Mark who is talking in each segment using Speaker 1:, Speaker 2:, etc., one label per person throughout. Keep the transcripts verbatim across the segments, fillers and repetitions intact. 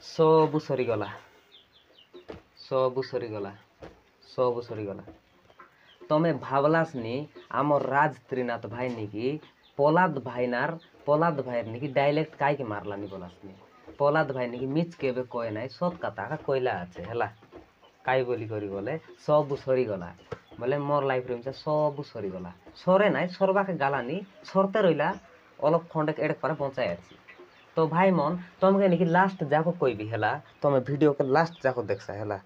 Speaker 1: ସବୁ ସରିଗଲା, ସବୁ ସରିଗଲା, ସବୁ ସରିଗଲା। ତମେ ଭାବଲାସନି ଆମ ରାଜ ତ୍ରିନାଥ ଭାଇ ନିକି ପଲାଦ ଭାଇନାର ପଲାଦ ଭାଇର ନିକି ଡାଇଲେକ୍ଟ କାଇକି ମାରଲାନି ବୋଲାସନି। ପଲାଦ ଭାଇ ନିକି ମିଛ କେବେ କହେ ନାଇଁ, ସତ କଥା ଏକା କହିଲା ଅଛି ହେଲା। କାଇ ବୋଲି କରି ବୋଲେ ସବୁ ସରିଗଲା ବୋଲେ ମୋର୍ ଲାଇଫ୍ରେ ମିଶା ସବୁ ସରିଗଲା। ସରେ ନାଇଁ, ସରବାକେ ଗାଲାନି, ସରତେ ରହିଲା ଅଲପ ଖଣ୍ଡେ ଏଡ଼େ ପରେ ବଞ୍ଚାଇ ଅଛି। ତ ଭାଇ ମନ ତମକେ ନିକି ଲାଷ୍ଟ ଯାକ କହିବି ହେଲା, ତମେ ଭିଡ଼ିଓକେ ଲାଷ୍ଟ ଯାକ ଦେଖସା ହେଲା।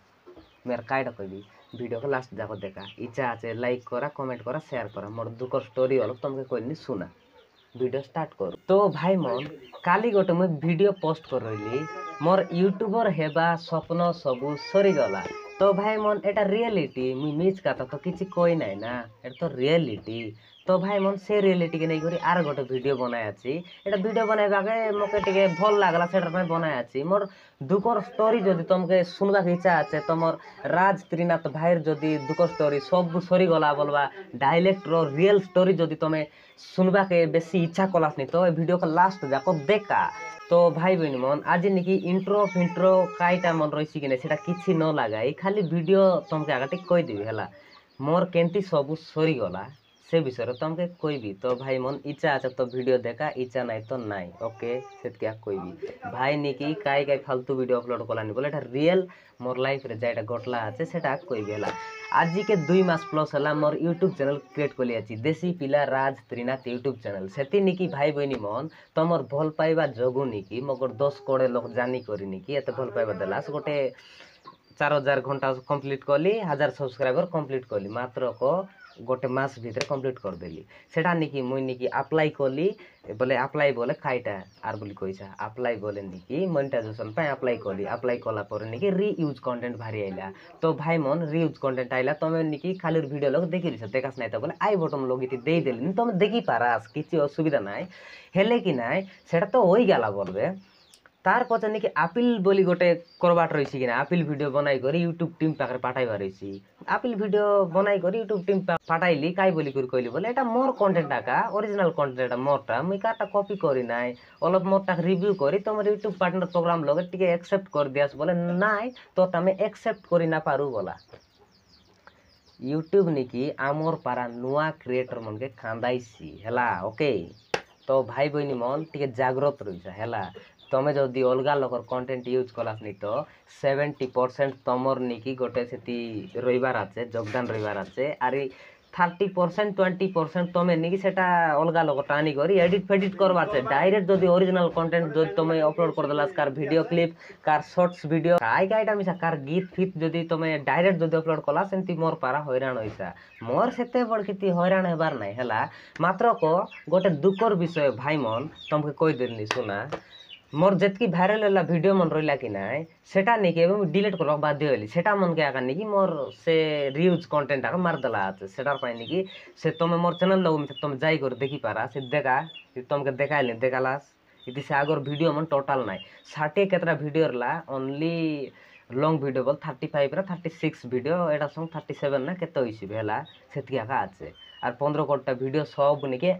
Speaker 1: ମୁଇଁ ଆର୍ କାଇଟା କହିବି, ଭିଡ଼ିଓକେ ଲାଷ୍ଟ ଯାକ ଦେଖା। ଇଚ୍ଛା ଅଛି ଲାଇକ୍ କରା, କମେଣ୍ଟ କରା, ସେୟାର କରା। ମୋର୍ ଦୁଃଖର ଷ୍ଟୋରି ଅଲପ ତମକେ କହିନି ଶୁନା, ଭିଡ଼ିଓ ଷ୍ଟାର୍ଟ କରୁ। ତ ଭାଇ ମନ କାଲି ଗୋଟେ ମୁଇଁ ଭିଡ଼ିଓ ପୋଷ୍ଟ କରିଲି, ମୋର୍ ୟୁଟ୍ୟୁବର ହେବା ସ୍ୱପ୍ନ ସବୁ ସରିଗଲା। ତ ଭାଇ ମନ ଏଟା ରିଏଲିଟି, ମୁଇଁ ମିଛ କଥା ତ କିଛି କହି ନାଇଁ ନା, ଏଟା ତ ରିଏଲିଟି। ତ ଭାଇ ମନ ସେ ରିଏଲିଟିକେ ନେଇକରି ଆର୍ ଗୋଟେ ଭିଡ଼ିଓ ବନାଇ ଅଛି। ଏଟା ଭିଡ଼ିଓ ବନାଇବାକେ ମତେ ଟିକେ ଭଲ୍ ଲାଗଲା, ସେଟାର ପାଇଁ ବନାଇ ଅଛି। ମୋର୍ ଦୁଃଖର ଷ୍ଟୋରି ଯଦି ତମକେ ଶୁଣବାକେ ଇଚ୍ଛା ଅଛି, ତମର ରାଜ ତ୍ରିନାଥ ଭାଇର ଯଦି ଦୁଃଖ ଷ୍ଟୋରି ସବୁ ସରିଗଲା ବୋଲବା ଡାଇଲେକ୍ଟର ରିଏଲ୍ ଷ୍ଟୋରି ଯଦି ତମେ ଶୁଣବାକେ ବେଶୀ ଇଚ୍ଛା କଲାସନି, ତ ଏ ଭିଡ଼ିଓକେ ଲାଷ୍ଟ ଯାକ ଦେଖା। ତ ଭାଇ ବହିନି ମନ ଆଜି ନିକି ଇଣ୍ଟ୍ରୋ ଫିଣ୍ଟ୍ରୋ କାଇଟା ମନ ରହିଛି କି ନାଇଁ ସେଟା କିଛି ନ ଲାଗାଇ ଖାଲି ଭିଡ଼ିଓ ତମକେ ଆଗ ଟିକେ କହିଦେବି ହେଲା। ମୋର୍ କେନ୍ତି ସବୁ ସରିଗଲା ସେ ବିଷୟରେ ତମକେ କହିବି। ତ ଭାଇ ମନ ଇଚ୍ଛା ଅଛି ତ ଭିଡ଼ିଓ ଦେଖା, ଇଚ୍ଛା ନାଇଁ ତ ନାଇଁ, ଓକେ ସେତିକି ଆଗ କହିବି। ଭାଇ ନିକି କାଇ କାଇ ଫାଲତୁ ଭିଡ଼ିଓ ଅପଲୋଡ଼ କଲାନି ବୋଲେ ଏଟା ରିଏଲ୍ ମୋର୍ ଲାଇଫ୍ରେ ଯାଇଟା ଘଟଲା ଅଛି ସେଟା କହିବି ହେଲା। ଆଜିକେ ଦୁଇ ମାସ ପ୍ଲସ୍ ହେଲା ମୋର୍ ୟୁଟ୍ୟୁବ୍ ଚ୍ୟାନେଲ୍ କ୍ରିଏଟ୍ କଲି ଅଛି, ଦେଶୀ ପିଲା ରାଜ ତ୍ରିନାଥ ୟୁଟ୍ୟୁବ୍ ଚ୍ୟାନେଲ୍। ସେତି ନିକି ଭାଇ ବହିନି ମନ ତମର ଭଲ ପାଇବା ଯୋଗୁଁ ନିକି ମୋକର ଦଶ କୋଡ଼ିଏ ଲୋକ ଜାନି କରି ନିକି ଏତେ ଭଲ ପାଇବା ଦେଲା। ସେ ଗୋଟେ ଚାର ହଜାର ଘଣ୍ଟା କମ୍ପ୍ଲିଟ୍ କଲି, ହଜାର ସବସ୍କ୍ରାଇବର କମ୍ପ୍ଲିଟ୍ କଲି, ମାତ୍ର କ ଗୋଟେ ମାସ ଭିତରେ କମ୍ପ୍ଲିଟ୍ କରିଦେଲି। ସେଟା ନିକି ମୁଇଁ ନିକି ଆପ୍ଲାଏ କଲି ବୋଲେ ଆପ୍ଲାଏ ବୋଲେ କାଇଟା ଆର୍ ବୋଲି କହିଛା, ଆପ୍ଲାଏ ବୋଲେ ନିକି ମନିଟାଇଜେସନ୍ ପାଇଁ ଆପ୍ଲାଏ କଲି। ଆପ୍ଲାଏ କଲା ପରେ ନିକି ରିୟୁଜ୍ କଣ୍ଟେଣ୍ଟ ବାହାରି ଆଇଲା। ତ ଭାଇ ମନ ରିୟୁଜ୍ କଣ୍ଟେଣ୍ଟ ଆଇଲା, ତମେ ନିକି ଖାଲି ଭିଡ଼ିଓ ଲୋକ ଦେଖିଲିଛ, ଦେખાସ ନାଇଁ ତ ବୋଲେ I button ଲଗେଇତି ଦେଇଦେଲିନି, ତମେ ଦେଖିପାରାସ କିଛି ଅସୁବିଧା ନାଇଁ। ହେଲେ କି ନାଇଁ ସେଟା ତ ହୋଇଗଲା ବୋଲବେ। ତାର ପଛେ ନିକି ଆପିଲ୍ ବୋଲି ଗୋଟେ କରବାଟ ରହିଛି କି ନା, ଆପିଲ୍ ଭିଡ଼ିଓ ବନାଇ କରି ୟୁଟ୍ୟୁବ୍ ଟିମ୍ ପାଖରେ ପାଠାଇବାର ରହିଛି। ଆପିଲ୍ ଭିଡ଼ିଓ ବନାଇ କରି ୟୁଟ୍ୟୁବ୍ ଟିମ୍ ପାଠାଇଲି, କାଇ ବୋଲି କରି କହିଲି ବୋଲେ ଏଟା ମୋର୍ କଣ୍ଟେଣ୍ଟ ଆକା, ଅରିଜିନାଲ୍ କଣ୍ଟେଣ୍ଟ ଏଟା ମୋରଟା, ମୁଇଁ କାହାରଟା କପି କରି ନାଇଁ, ଅଲପ ମୋରଟା ରିଭ୍ୟୁ କରି ତମର ୟୁଟ୍ୟୁବ୍ ପାର୍ଟନର ପ୍ରୋଗ୍ରାମ ଲଗେ ଟିକେ ଆକ୍ସେପ୍ଟ କରିଦିଆସ ବୋଲେ ନାଇଁ ତ ତମେ ଆକ୍ସେପ୍ଟ କରି ନା ପାରୁ ବୋଲା। ୟୁଟ୍ୟୁବ୍ ନିକି ଆମର୍ ପାରା ନୂଆ କ୍ରିଏଟର ମନକେ ଖାନ୍ଦାଇସି ହେଲା, ଓକେ। ତ ଭାଇ ବହିନି ମନ ଟିକେ ଜାଗ୍ରତ ରହିଛା ହେଲା। ତମେ ଯଦି ଅଲଗା ଲୋକର କଣ୍ଟେଣ୍ଟ ୟୁଜ୍ କଲାସନି ତ ସେଭେଣ୍ଟି ପରସେଣ୍ଟ ତମର ନିକି ଗୋଟେ ସେଠି ରହିବାର ଅଛି, ଯୋଗଦାନ ରହିବାର ଅଛି। ଆରି ଥାର୍ଟି ପରସେଣ୍ଟ ଟ୍ୱେଣ୍ଟି ପରସେଣ୍ଟ ତମେ ନିକି ସେଟା ଅଲଗା ଲୋକ ଟାଣି କରି ଏଡ଼ିଟ୍ ଫେଡ଼ିଟ୍ କରବାର ଅଛି। ଡାଇରେକ୍ଟ ଯଦି ଅରିଜିନାଲ୍ କଣ୍ଟେଣ୍ଟ ଯଦି ତମେ ଅପଲୋଡ଼ କରିଦେଲା, car video clip, car shorts video, କାଇ କାଇଟା ମିଶା କାର ଗୀତ ଫିତ୍ ଯଦି ତମେ ଡାଇରେକ୍ଟ ଯଦି ଅପଲୋଡ଼ କଲା, ସେମିତି ମୋର୍ ପାରା ହଇରାଣ ହୋଇସା। ମୋର୍ ସେତେ ବଡ଼ କିଛି ହଇରାଣ ହେବାର ନାଇଁ ହେଲା। ମାତ୍ର କ ଗୋଟେ ଦୁଃଖର ବିଷୟ ଭାଇ ମନ ତମକେ କହିଦେଲି ଶୁନା, ମୋର୍ ଯେତ୍କି ଭାଇରାଲ୍ ହେଲା ଭିଡ଼ିଓ ମନ ରହିଲା କି ନାଇଁ ସେଟା ନେଇକି ଏବେ ମୁଇଁ ଡିଲିଟ୍ କରିବାକୁ ବାଧ୍ୟ ହେଲି। ସେଟା ମନକେ ଏକା ନେଇକି ମୋର୍ ସେ ରିୟୁଜ୍ କଣ୍ଟେଣ୍ଟ ଏକା ମାରିଦେଲା ଅଛି। ସେଟାର ପାଇଁ ନେଇକି ସେ ତମେ ମୋର୍ ଚ୍ୟାନେଲ୍ ଲଗ ତମେ ଯାଇକରି ଦେଖିପାରା, ସେ ଦେଖା ତମକେ ଦେଖାଇଲି ଦେଖାଲାସ୍ ଇତି ସେ ଆଗର ଭିଡ଼ିଓ ମନ ଟୋଟାଲ୍ ନାଇଁ। ଷାଠିଏ କେତେଟା ଭିଡ଼ିଓ ହେଲା, ଓନ୍ଲି ଲଙ୍ଗ୍ ଭିଡ଼ିଓ ବୋଲ ଥାର୍ଟି ଫାଇଭ୍ ନା ଥାର୍ଟି ସିକ୍ସ ଭିଡ଼ିଓ, ଏଇଟା ସବୁ ଥାର୍ଟି ସେଭେନ୍ ନା କେତେ ହୋଇସି ବି ହେଲା ସେତିକି ଏକା ଅଛି। ଆର୍ ପନ୍ଦର କୋଡ଼ିଏଟା ଭିଡ଼ିଓ ସବୁ ନିକେ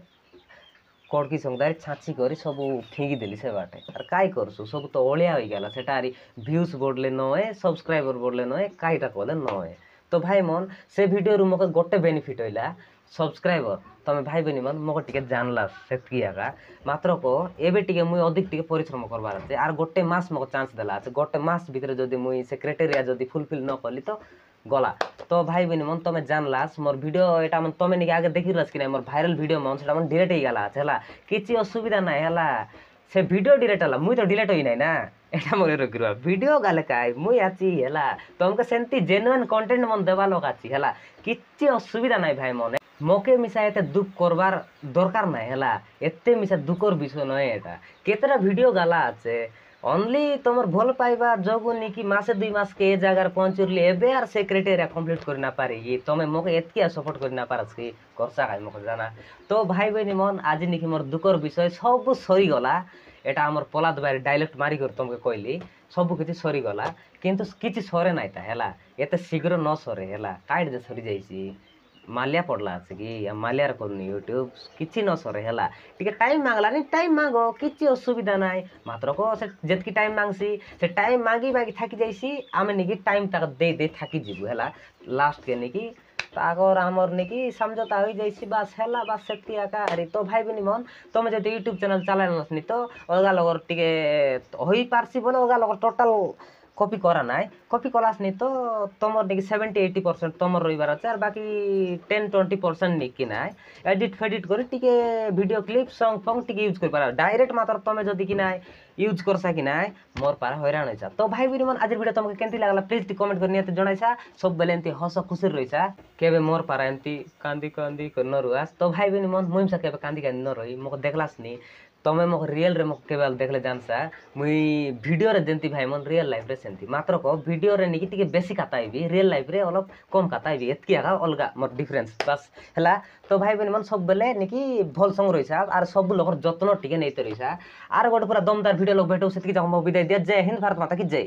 Speaker 1: କଡ଼କି ସଙ୍ଗଦାରେ ଛାଞ୍ଚି କରି ସବୁ ଫିଙ୍ଗିଦେଲି ସେ ବାଟେ। ଆର୍ କାଇ କରସୁ, ସବୁ ତ ଅଳିଆ ହୋଇଗଲା। ସେଟା ଆରି ଭ୍ୟୁଜ୍ ବଢ଼ଲେ ନଏ, ସବସ୍କ୍ରାଇବର ବଢ଼ଲେ ନଏ, କାଇଟା କଲେ ନଏ। ତ ଭାଇ ମନ ସେ ଭିଡ଼ିଓରୁ ମକେ ଗୋଟେ ବେନିଫିଟ୍ ହଇଲା ସବସ୍କ୍ରାଇବର, ତମେ ଭାଇ ବହିନି ମନ ମକେ ଟିକେ ଜାନଲା ସେତିକି ଏକା। ମାତ୍ର କ ଏବେ ଟିକେ ମୁଇଁ ଅଧିକ ଟିକେ ପରିଶ୍ରମ କରବାର ଅଛି। ଆର୍ ଗୋଟେ ମାସ ମକେ ଚାନ୍ସ ଦେଲା ଅଛି, ଗୋଟେ ମାସ ଭିତରେ ଯଦି ମୁଇଁ ସେ କ୍ରାଇଟେରିଆ ଯଦି ଫୁଲଫିଲ୍ ନ କଲି ତ ଗଲା। ତ ଭାଇ ବହିନି ମନ ତମେ ଜାନଲାସ ମୋର୍ ଭିଡ଼ିଓ ଏଟା ମାନେ ତମେ ନିକେ ଆଗେ ଦେଖିଲାସ କି ନାଇଁ, ମୋର୍ ଭାଇରାଲ୍ ଭିଡ଼ିଓ ମନ ସେଟା ମାନେ ଡିଲେଟ୍ ହେଇଗଲା ଅଛି ହେଲା, କିଛି ଅସୁବିଧା ନାଇଁ ହେଲା। ସେ ଭିଡ଼ିଓ ଡିଲେଟ୍ ହେଲା, ମୁଇଁ ତ ଡିଲେଟ୍ ହୋଇ ନାଇଁ ନା, ଏଟା ମନେ ରଖିବା। ଭିଡ଼ିଓ ଗାଲେ କାଇ ମୁଇଁ ଆଛି ହେଲା, ତମକେ ସେମିତି ଜେନୁଇନ୍ କଣ୍ଟେଣ୍ଟ ମନ ଦେବା ଲୋକ ଅଛି ହେଲା, କିଛି ଅସୁବିଧା ନାଇଁ ଭାଇ ମନେ। ମକେ ମିଶା ଏତେ ଦୁଃଖ କରବାର ଦରକାର ନାଇଁ ହେଲା, ଏତେ ମିଶା ଦୁଃଖର ବିଷୟ ନୁହେଁ ଏଟା। କେତେଟା ଭିଡ଼ିଓ ଗାଲା ଅଛି ଓନ୍ଲି ତମର ଭଲ ପାଇବା ଯୋଗୁଁ ନିକି ମାସେ ଦୁଇ ମାସ କେ ଏ ଜାଗାରେ ପହଞ୍ଚିଲି, ଏବେ ଆର୍ ସେ କ୍ରାଇଟେରିଆ କମ୍ପ୍ଲିଟ୍ କରି ନା ପାରିକି ତମେ ମକେ ଏତିକି ଆଉ ସପୋର୍ଟ କରି ନା ପାରସ କି କରସା କାଇ ମକେ ଜାନା। ତ ଭାଇ ବହିନି ମନ ଆଜି ନିକି ମୋର୍ ଦୁଃଖର ବିଷୟ ସବୁ ସରିଗଲା। ଏଟା ଆମର ପଲାଦ ଭାଇ ଡାଇଲେକ୍ଟ ମାରିକରି ତମକେ କହିଲି, ସବୁ କିଛି ସରିଗଲା, କିନ୍ତୁ କିଛି ସରେ ନାଇଁ ତା ହେଲା, ଏତେ ଶୀଘ୍ର ନ ସରେ ହେଲା, କାଇଟ୍ ଯେ ସରିଯାଇଛି। ମାଲିଆ ପଡ଼ଲା ଅଛି କି ମାଲିଆର କରୁନି ୟୁଟ୍ୟୁବ୍ କିଛି ନ ସରେ ହେଲା ଟିକେ ଟାଇମ୍ ମାଗଲାନି ଟାଇମ୍ ମାଗ କିଛି ଅସୁବିଧା ନାହିଁ ମାତ୍ର କ ସେ ଯେତିକି ଟାଇମ୍ ମାଗସି ସେ ଟାଇମ୍ ମାଗି ମାଗି ଥାକି ଯାଇସି ଆମେ ନିକି ଟାଇମ୍ ତାକୁ ଦେଇ ଦେଇ ଥାକି ଯିବୁ ହେଲା ଲାଷ୍ଟକେ ନିକି ତାକର ଆମର ନିକି ସମଝୋତା ହୋଇଯାଇସି ବାସ୍ ହେଲା ବାସ୍ ସେତିକି ଏକା ଆରି ତ ଭାଇ ଭଉଣୀ ମନ ତମେ ଯଦି ୟୁଟ୍ୟୁବ୍ ଚ୍ୟାନେଲ୍ ଚଲାଇନସିନି ତ ଅଲଗା ଲୋକର ଟିକେ ହୋଇପାରସି ବୋଲେ ଅଲଗା ଲୋକର ଟୋଟାଲ୍ କପି କରା ନାଇଁ କପି କଲାସନି ତ ତମର ନିକି ସେଭେଣ୍ଟି ଏଇଟି ପରସେଣ୍ଟ ତମର ରହିବାର ଅଛି ଆର୍ ବାକି ଟେନ୍ ଟ୍ୱେଣ୍ଟି ପରସେଣ୍ଟ ନିକି ନାଇଁ ଏଡ଼ିଟ୍ ଫେଡ଼ିଟ୍ କରି ଟିକେ ଭିଡ଼ିଓ କ୍ଲିପ୍ ସଙ୍ଗ୍ ଫଙ୍ଗ୍ ଟିକେ ୟୁଜ୍ କରିପାର ଡାଇରେକ୍ଟ ମାତ୍ର ତମେ ଯଦି କି ନାଇଁ ୟୁଜ୍ କରସା କି ନାଇଁ ମୋର୍ ପାରେ ହଇରାଣ ହେଇଛା ତ ଭାଇ ଭଉଣୀ ମାନେ ଆଜିର ଭିଡ଼ିଓ ତମକୁ କେମିତି ଲାଗଲା ପ୍ଲିଜ୍ ଟିକେ କମେଣ୍ଟ କରି ନିହାତି ଜଣାଇଛା ସବୁବେଲେ ଏମିତି ହସ ଖୁସିରେ ରହିଛା କେବେ ମୋର୍ ପାରା ଏମିତି କାନ୍ଦି କାନ୍ଦି କରି ନ ରୁହାସ ତ ଭାଇ ଭଉଣୀ ମନ ମୁଇଁ କେବେ କାନ୍ଦି କାନ୍ଦି ନ ରହି ମୋତେ ଦେଖଲାସନି ତମେ ମୋ ରିଏଲ୍ରେ ମୋ କେବେ ଦେଖିଲେ ଜାନସା ମୁଇଁ ଭିଡ଼ିଓରେ ଯେମିତି ଭାଇ ମନ ରିଏଲ୍ ଲାଇଫ୍ରେ ସେମିତି ମାତ୍ର କ ଭିଡ଼ିଓରେ ନିକି ଟିକେ ବେଶୀ କାତା ହେବି ରିଏଲ୍ ଲାଇଫ୍ରେ ଅଲପ କମ୍ କାତା ହେବି ଏତ୍କି ଏକା ଅଲଗା ମୋର ଡିଫରେନ୍ସ ବାସ୍ ହେଲା ତ ଭାଇ ଭଉଣୀ ମାନେ ସବୁବେଲେ ନିକି ଭଲ୍ ସଙ୍ଗ ରହିଛା ଆର୍ ସବୁ ଲୋକର ଯତ୍ନ ଟିକେ ନେଇତେ ରହିଛା ଆର୍ ଗୋଟେ ପୁରା ଦମଦାର ଭିଡ଼ିଓ ଲୋକ ଭେଟୁ ସେତିକି ଯାକ ମୋ ବିଦାୟ ଦିଅ ଜୟ ହିନ୍ଦ ଭାରତ ମାତା କି ଜୟ।